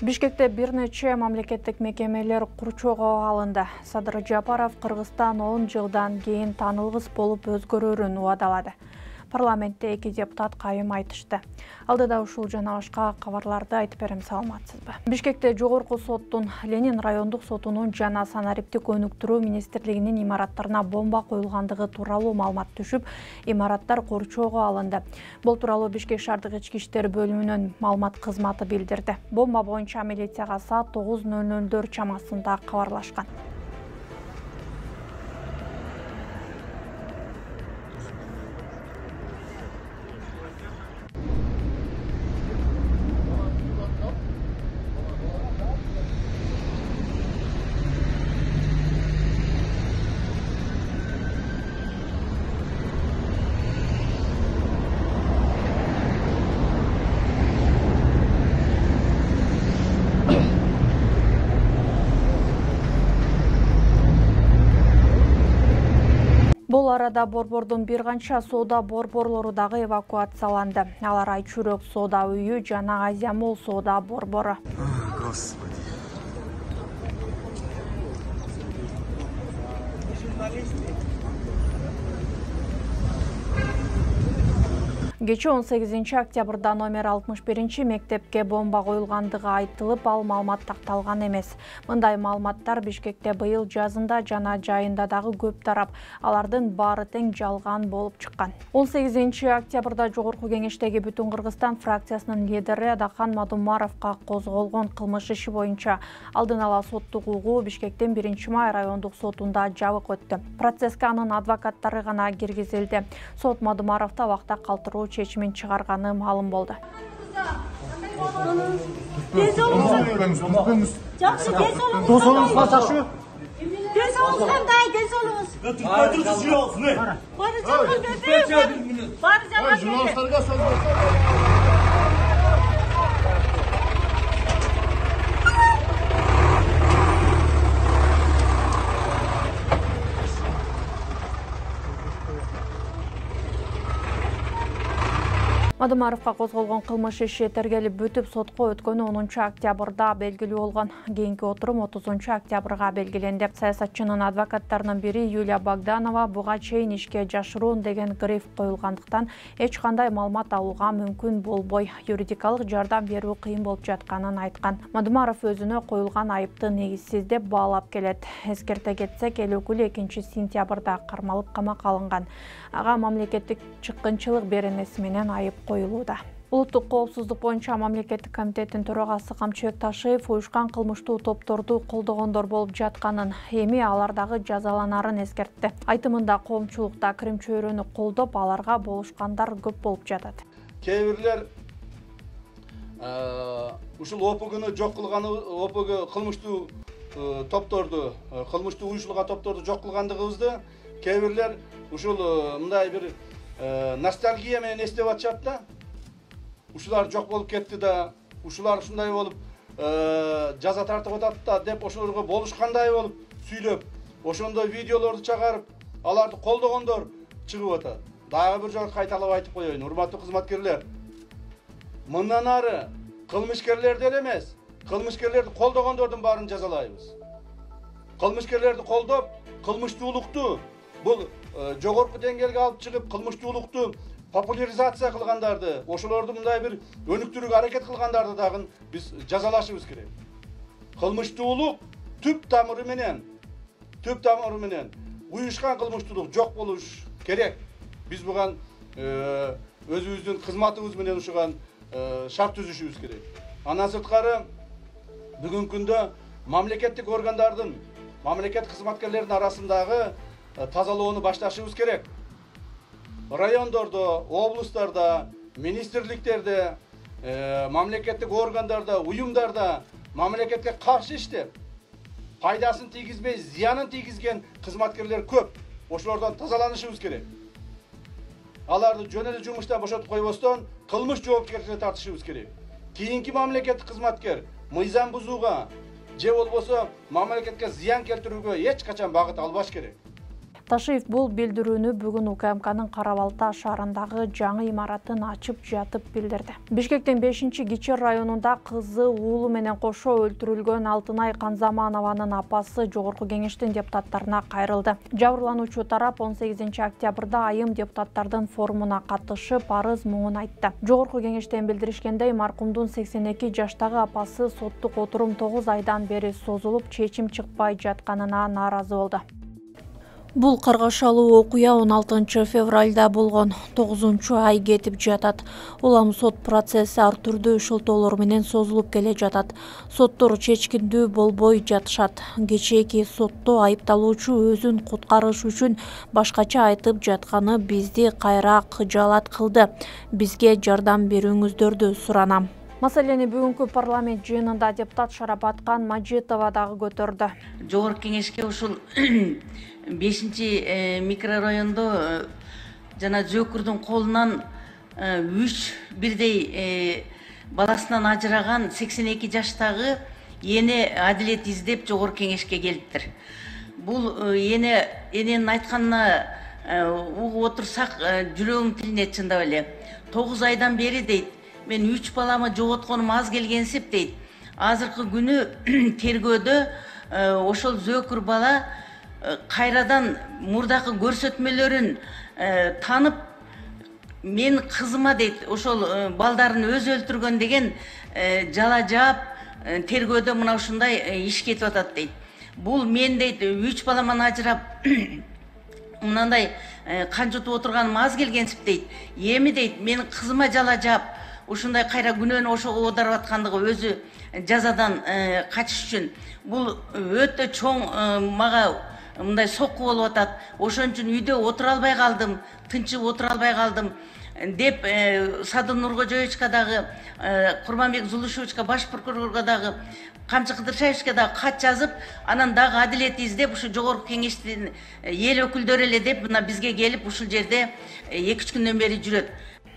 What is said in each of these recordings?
Бишкекте бир нече мамлекеттик мекемелер курчоого алынды. Садыр Жапаров Кыргызстан 10 жылдан кийин таанылгыс болуп өзгөрөрүн убадалады. Парламентте 2 депутат кайым айтышты. Алдыда ушул жана башка кабарларды айтып берем, саламатсызбы. Бишкекте жогорку соттун, Ленин райондук сотунун жана санариптик өнүктүрүү министрлигинин имараттарына бомба коюлгандыгы тууралуу маалымат түшүп, имараттар курчоого алынды. Бул тууралуу Бишкек шаардык ички иштер бөлүмүнүн маалымат кызматы билдирди. Бомба боюнча милицияга саат 9:00 чамасында кабарлашкан. Бул арада борбордун бир канча соода борборлору дагы эвакуацияланды. Алар Айчүрөк соода үйү жана Азия Молл соода борбору. Господи. Кечээ 18 октябрда номер 61 мектепке бомба коюлгандыгы айтылып, ал маалымат такталган эмес. Мындай маалыматтар Бишкекте быйыл жазында жана жайында дагы көп тарап, алардын баары тең жалган болуп чыккан. 18 октябрда Жогорку кеңештеги Бүтүн Кыргызстан фракциясынын лидери Адахан Мадумаровго козголгон кылмыш иши боюнча алдын ала соттук угуу Бишкектин 1-май райондук сотунда жабык өттү. Процесске анын адвокаттары гана киргизилди. Сот Мадумаровду абакта калтыруу чечимин чыгарганы маалым болду. Мадумаровго козголгон кылмыш иши тергелип бүтүп, сотко өткөнү 10 октябрда белгилүү болгон. Кийинки отурум 30 октябрга белгиленди. Саясатчынын адвокаттарынын бири Юлия Богданова буга чейин ишке жашыруун деген гриф коюлгандыктан эч кандай маалымат алууга мүмкүн болбой, юридикалык жардам берүү кыйын болуп жатканын айткан. Мадумаров өзүнө коюлган айыпты негизсиз деп баалап келет. Эскерте кетсек, эл өкүлү 2 сентябрда кармалып камакка алынган. Ага мамлекеттик чыккынчылык беренеси менен айып коюлууда. Улуттук коопсуздук боюнча мамлекеттик комитеттин төрагасы Камчыбек Ташиев уюшкан кылмыштуу топторду колдогондор болуп жатканын, эми алар дагы жазаланарын эскертти. Айтымында коомчулукта кирим чөйрөнү колдоп, аларга болушкандар көп болуп жатат. Кээ бирлер ушул ОПГны жок кылганы, ОПГ кылмыштуу топторду, кылмыштуу уюшулган топторду жок кылгандыгыбызды кээ бирлер ушул мындай бир ностальгия менен эстеп атышат да. Ушулар жок болуп кетти да, ушулар ушундай болуп жаза тартып атат да деп ошолорго болушкандай болуп сүйлөп, ошондой видеолорду чыгарып, аларды колдогондор чыгып атат. Дагы бир жолу кайталап айтып коеюн, урматтуу кызматкерлер. Мындан ары кылмышкерлерди эле эмес, кылмышкерлерди колдогондордун баарын жазалайбыз. Кылмышкерлерди колдоп, кылмыштуулукту бул жогорку деңгээлге алып чыгып, кылмыштуулукту популяризация кылгандарды, ошолорду мындай бир өнүктүрүүгө аракет кылгандарды дагы биз жазалашыбыз керек. Кылмыштуулук түп тамыры менен уюшкан кылмыштуулук жок болуш керек. Биз буга өзүбүздүн кызматыбыз менен ушуган шарт түзүшүбүз керек. Андан сырткары бүгүнкү күндө мамлекеттик органдардын, мамлекет кызматкерлеринин арасындагы тазалоону башташыбыз керек. Райондордо, облустарда, министрликтерде, мамлекеттик органдарда, уюмдарда мамлекетке каршы иштеп, пайдасын тийгизбей, зыянын тийгизген кызматкерлер көп. Ошолордон тазаланышыбыз керек. Аларды жөн эле жумуштан бошотуп койбостон, кылмыш жоопкерчиликке тартышыбыз керек. Кийинки мамлекеттик кызматкер мыйзам бузууга же болбосо мамлекетке зыян келтирүүгө эч качан багыт албаш керек. Ташиев бул билдирүүнү бүгүн УКМКнын Кара Балта шаарындагы жаңы имаратын ачып жатып билдирди. Бишкектин 5-Кичи районунда кызы уулу менен кошо өлтүрүлгөн Алтынай Канзаманованын апасы Жогорку Кеңештин депутаттарына кайрылды. Жабырлануучу тарап 18 октябрда айым депутаттардын форумуна катышып, арыз муңун айтты. Жогорку Кеңештен билдиришкендей, маркумдун 82 жаштагы апасы соттук отурум 9 айдан бери созулуп, чечим чыкпай жатканына нааразы болду. Бул каргашалуу окуя 16 февралда болгон. 9-ай кетип жатат. Улам сот процесси ар түрдүү шылтоолор менен созулуп келе жатат. Соттор чечкиндүү болбой жатышат. Кечээки сотто айыпталуучу өзүн куткарыш үчүн башкача айтып жатканы бизди кайра кыжаалат кылды. Бизге жардам берүүңүздөрдү суранам. Маселени бүгүнкү парламент жыйынында депутат Шарапаткан Мажитова дагы көтөрдү. Жогорку Кеңешке ушул 5 микрорайондо жана Жөкүрдүн колунан 3 бирдей баласынан ажыраган 82 жаштагы эне адилет издеп Жогорку Кеңешке келиптир. Бул эненин айтканына угуп отурсак, жүрөгүм тилине чындап эле. 9 айдан бери дейт, мен 3 баламы жоготконум аз келгенсип дейт. Азыркы күнү тергөөдө ошол Зөкүр бала кайрадан мурдакы көрсөтмөлөрүн танып, мен кызыма дейт, ошол балдарын өзү өлтүргөн деген жала жаап тергөөдө мына ушундай иш кетип атат дейт. Бул мен дейт 3 баламан ажырап мынандай канжытып отурганым аз келгенсип дейт. Эми дейт, мен кызыма жала жаап ушундай кайра күнөөнү ошого оодарып аткандыгы өзү жазадан качыш үчүн. Бул өтө чоң мага мындай сокку болуп атат. Ошон үчүн үйдө отура албай калдым, тынчып отура албай калдым деп Садыр Нуркожоевичке дагы, Курманбек Зулушевичке, баш прокурорго дагы, Камчы Кыдыршаевичке дагы кат жазып, анан дагы адилет издеп, ушу Жогорку Кеңештин эл өкүлдөрү эле деп мына бизге келип ушул жерде 2-3 күндөн бери жүрөт.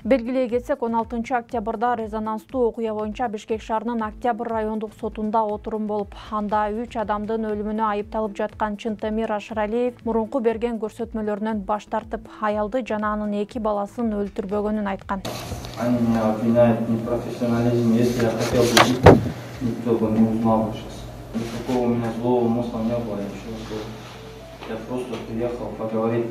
Белгилей кетсек, 16 октябрда резонанстуу окуя боюнча Бишкек шаарынын Октябрь райондук сотунда отурум болуп, анда 3 адамдын өлүмүнө айыпталып жаткан Чынтемир Ашыралиев мурунку берген көрсөтмөлөрүнөн баш тартып, аялды жана анын 2 баласын өлтүрбөгөнүн айткан. Они меня обвиняют в непрофессионализме. Если я хотел бы жить, никто бы не узнал бы сейчас. Никакого у меня злого умысла не было, я просто приехал поговорить,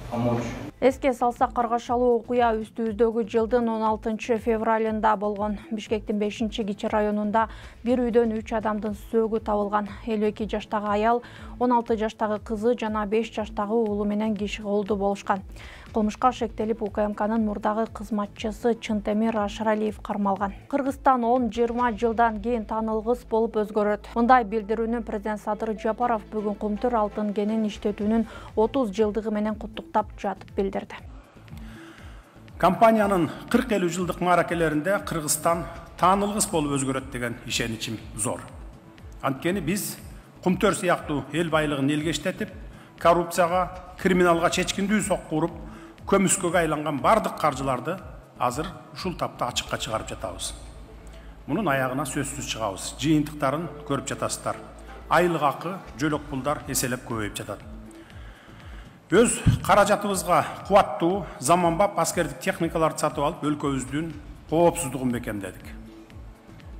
помочь. Эске салсак, каргашалуу окуя үстүбүздөгү жылдын 16 февралында болгон. Бишкектин 5-Кичи районунда бир үйдөн 3 адамдын сөөгү табылган. 52 жаштагы аял, 16 жаштагы кызы жана 5 жаштагы уулу менен киши колдуу болушкан. Кылмышка шектелип, УКМКнын мурдагы кызматчысы Чынтемир Ашыралиев кармалган. Кыргызстан 10-20 жылдан кийин таанылгыс болуп өзгөрөт. Мындай билдирүүнү президент Садыр Жапаров бүгүн Кумтур алтын кенин иштетүүнүн 30 жылдыгы менен куттуктап жатып билдирди. Компаниянын 40-50 жылдык мааракелеринде Кыргызстан таанылгыс болуп өзгөрөт деген ишеничим зор. Анткени биз Кумтөр сыяктуу эл байлыгын элге иштетип, коррупцияга, криминалга чечкиндүү сокку уруп, көмүскөгө айланган бардык каржыларды азыр ушул тапта ачыкка чыгарып жатабыз. Мунун аягына сөзсүз чыгабыз. Жыйынтыктарын көрүп жатасыздар. Айлык акы, жөлөк пулдар эселеп көбөйүп жатат. Өз каражатыбызга кубаттуу, заманбап аскердик техникаларды сатып алып, өлкөбүздүн коопсуздугун бекемдедик.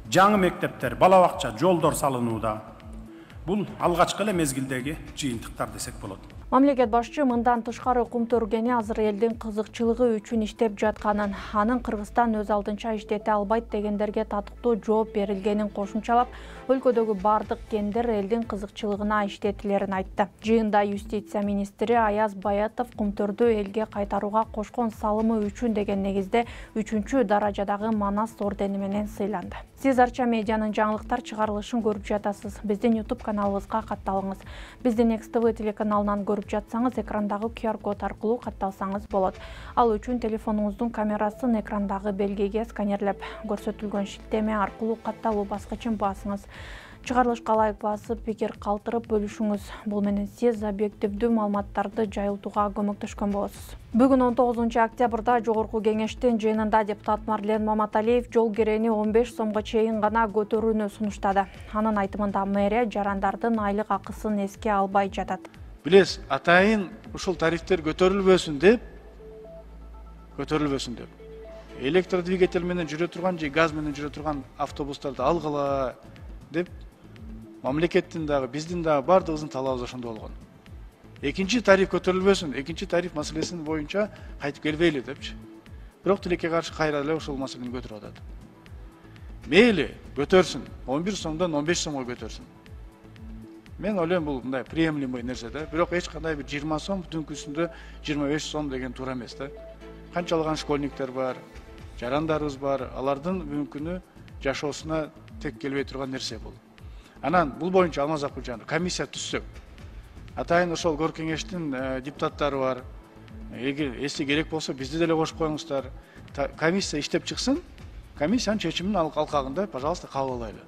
Жаңы мектептер, бала бакча, жолдор салынууда. Бул алгачкы эле мезгилдеги жыйынтыктар десек болот. Мамлекет башчы мындан тышкары Кумтөр кени азыр элдин кызыкчылыгы үчүн иштеп жатканын, анын Кыргызстан өз алдынча иштете албайт дегендерге татыктуу жооп берилгенин кошумчалап, өлкөдөгү бардык кендер элдин кызыкчылыгына иштетилерин айтты. Жыйында юстиция министри Аяз Баятов Кумтөрдү элге кайтарууга кошкон салымы үчүн деген негизде 3-чү даражадагы Манас ордени менен сыйланды. Сиз Арча медианын жаңылыктар чыгарылышын көрүп жатасыз. Биздин YouTube каналыбызга катталыңыз. Биздин XTV телеканалынан көрүп жатсаңыз, экрандагы QR код аркылуу катталсаңыз болот. Ал үчүн телефонуңуздун камерасын экрандагы белгиге сканерлеп, көрсөтүлгөн шилтеме аркылуу катталуу баскычын басыңыз. Чыгарылышка лайк басып, пикир калтырып бөлүшүңүз. Бул менен сиз объективдүү маалыматтарды жайылтууга көмөктөшкөн болосуз. Бүгүн 19 октябрда Жогорку Кеңештин жыйынында депутат Марлен Маматалиев жол керени 15 сомго чейин гана көтөрүүнү сунуштады. Анын айтымында мэрия жарандардын айлык акысын эске албай жатат. Билесиз, атайын ушул тарифтер көтөрүлбөсүн деп электродвигатель менен жүрө турган же газ менен жүрө турган автобустарды алгыла деп мамлекеттин дагы биздин дагы бардыгыбыздын талабыбыз ошондо болгон. Экинчи тариф көтөрүлбөсүн, экинчи тариф маселесин боюнча кайтып келбейли депчи. Бирок тилекке каршы кайра эле ошол маселени көтөрүп атат. Мейли көтөрсүн, 11 сомдон 15 сомго көтөрсүн. Мен ойлойм бул мындай приемлемый нерсе да, бирок эч кандай бир 20 сом түнкүсүндө 25 сом деген туура эмес да. Канчалаган школьниктер бар, жарандарыбыз бар, алардын бүгүнкү күнү жашоосуна тек келбей турган нерсе бул. Анан бул боюнча Алмаз Акылжанов комиссия түзсөк, атайын ошол кор кеңештин депутаттары бар. Эгер эси керек болсо бизди деле кошуп коюңуздар. Комиссия иштеп чыксын, комиссиянын чечимин алкагында, пожалуйста, кабыл алайлы.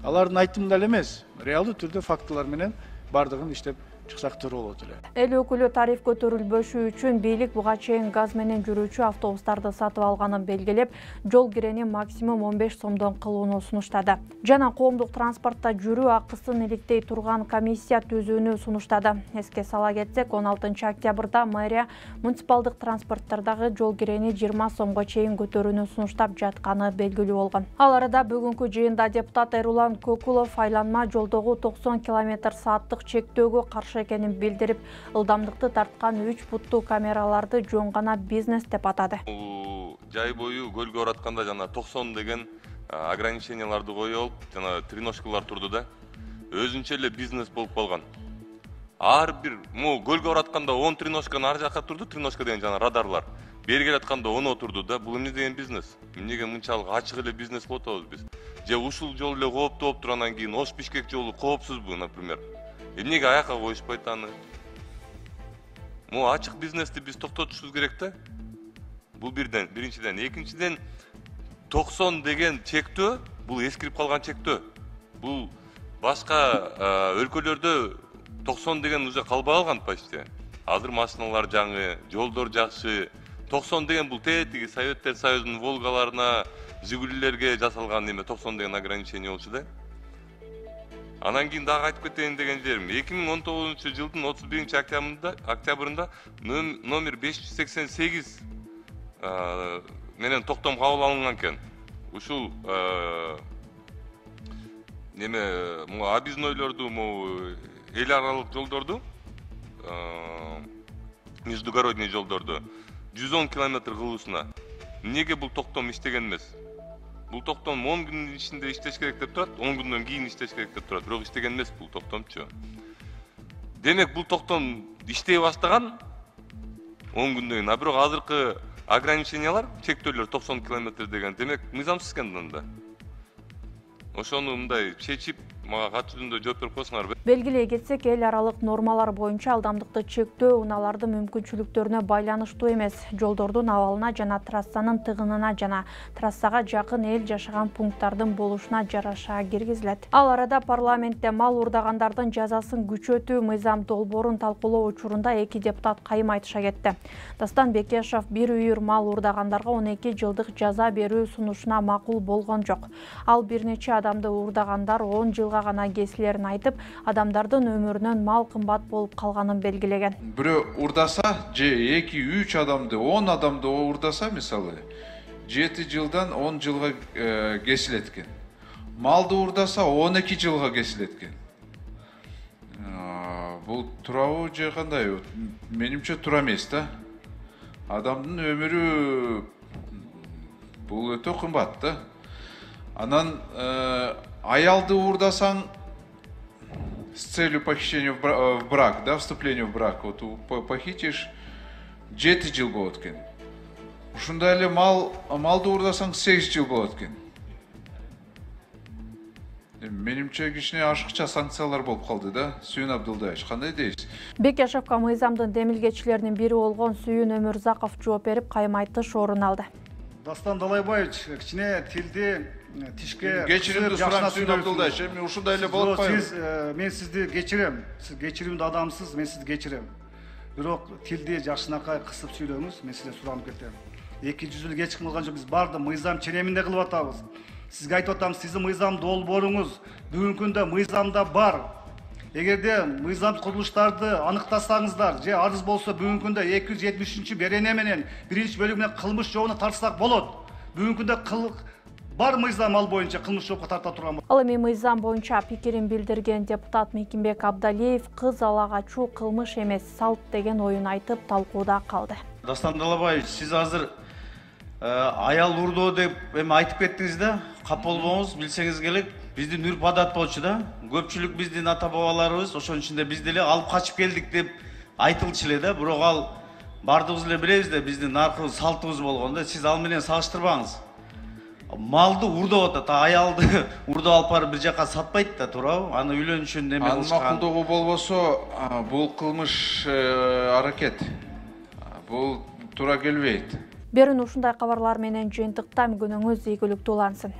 Алардын айтымында эле эмес, реалдуу түрдө фактылар менен бардыгын иштеп чыксак туура болот эле. Эл өкүлү тариф көтөрүлбөшү үчүн бийлик буга чейин газ менен жүрүүчү автобустарды сатып алганын белгилеп, жол кирени максимум 15 сомдон кылууну сунуштады. Жана коомдук транспортто жүрүү акысын иликтей турган комиссия түзүүнү сунуштады. Эске сала кетсек, 16 октябрда мэрия муниципалдык транспорттордогу жол кирени 20 сомго чейин көтөрүүнү сунуштап жатканы белгилүү болгон. Ал арада бүгүнкү жыйында депутат Эрулан Көкулов айланма жолдогу 90 км/сааттык чектөөгө каршы экенин билдирип, ылдамдыкты тарткан 3 буттуу камераларды жөн гана бизнес деп атады. Жай бою көлгө оратканда жана 90 деген ограниченияларды коюп, жана треножкалар турду да. Өзүнчө эле бизнес болуп калган. Ар бир көлгө оратканда 10 треножканы ар жакка турду, треножка деген жана радарлар. Бери келатканда 10 отурду да. Бул эмне деген бизнес? Эмнеге мынчалык ачык эле бизнес болуп атабыз биз? Же ушул жол эле кооптуу болуп турандан кийин Ош Бишкек жолу коопсузбу, например? Эмнеге аяка коюшпайт аны? Ачык бизнести биз токтотушубуз керек да. Бул биринчиден, экинчиден 90 деген чектөө, бул эскирип калган чектөө. Бул башка өлкөлөрдө 90 деген уже калбай калган почти. Азыр машиналар жаңы, жолдор жакшы. 90 деген бул тетиги Советтер Союзунун Волгаларына, Жигулилерге жасалган неме 90 деген ограничение болчу да. Анан кийин дагы айтып кетейин деген жерим. 2019 жылдын 31 октябрында номер 588 менен токтом кабыл алынган экен. Ушул неме объезднойлорду, эл аралык жолдорду, междугородный жолдорду 110 км кылуусуна. Эмнеге бул токтом иштеген эмес? Бул токтом 10 күнүн ичинде иштеш керек деп турат, 10 күндөн кийин иштеш керек деп турат. Бирок иштеген эмес бул токтомчу. Демек бул токтом иштей баштаган 10 күндөн кийин, а бирок азыркы ограничениялар, чектөөлөр 90 км деген, демек мыйзамсыз экен анда. Ошону мындай чечип, мага кат жүзүндө жооп берип койсуңар. Белгилей кетсек, эл аралык нормалар боюнча ылдамдыкты чектөө унаалардын мүмкүнчүлүктөрүнө байланыштуу эмес. Жолдордун абалына жана трассанын тыгынына жана трассага жакын эл жашаган пункттардын болушуна жараша киргизилет. Ал арада парламентте мал уурдагандардын жазасын күчөтүү мыйзам долбоорун талкуулоо учурунда эки депутат кайым айтыша кетти. Дастан Бекешов бир үйүр мал уурдагандарга 12 жылдык жаза берүү сунушуна макул болгон жок. Ал бир нече адамды уурдагандар 10 жылга гана кесилерин айтып, адамдардын өмүрүнөн мал кымбат болуп калганын белгилеген. Бирөө уурдаса, же 2-3 адамды, 10 адамды уурдаса, мисалы, 7 жылдан 10 жылга кесилет экен. Малды уурдаса 12 жылга кесилет экен. Бул туурабы же кандай? Менимче туура эмес да. Адамдын өмүрү бул өтө кымбат да. Анан аялды уурдасаң с целью похищения в брак, да, вступления в брак, вот похитишь 7 жыл болот экен. Ушундай эле малды уурдасаң 8 жыл болот экен. Менимче кичине ашыкча санкциялар болуп калды да. Сүйүн Абдулдаевич, кандай дейсиз? Бекешевка мыйзамдын демилгечилеринин бири болгон Сүйүн Өмүрзаков жооп берип, кайым айтыш орун алды. Дастан Далайбаевич, кичине тилди тишке кечиримди сурам Сүйүн Абдулдаевич, эми ушундай эле болуп атпайбы? Мен сизди кечирем. Сиз кечиримдүү адамсыз, мен сизди кечирем. Бирок тилди жакшынакай кысып сүйлөңүз, мен сизден суранып кетем. 200 жыл кеч кылган жок, биз барды мыйзам череминде кылып атабыз. Сизге айтып атам, сиздин мыйзам долбооруңуз бүгүнкү күндө мыйзамда бар. Эгерде мыйзам курулуштарды аныктасаңыздар же арыз болсо бүгүнкү күндө 273 берене менен 1-бөлүгү менен кылмыш жообуна тартсак болот. Бүгүнкү күндө бар мыйзам ал боюнча кылмыш жоопко тарта турган. Ал эми мыйзам боюнча пикирин билдирген депутат Мекимбек Абдалиев кыз ала качуу кылмыш эмес, салт деген оюн айтып талкууда калды. Дастан Далабаевич, сиз азыр аял урдоо деп эми айтып кеттиңиз да, кап болбоңуз, билсеңиз керек. Биздин үрп адат болчу да. Көпчүлүк биздин ата бабаларыбыз ошонун ичинде биз деле алып качып келдик деп айтылчу эле да. Бирок ал бардыгыбыз эле билебиз да, биздин наркыбыз, салтыбыз болгон да. Сиз ал менен салыштырбаңыз. Малды урдоп атат, аялды урдоп алып барып бир жака сатпайт да, туурабы? Аны үйлөнүшүн неме кылышкан. Макулдугу болбосо, бул кылмыш аракет. Бул туура келбейт. Берүүнү ушундай кабарлар менен жыйынтыктайм. Күнүңүз ийгиликтүү улансын.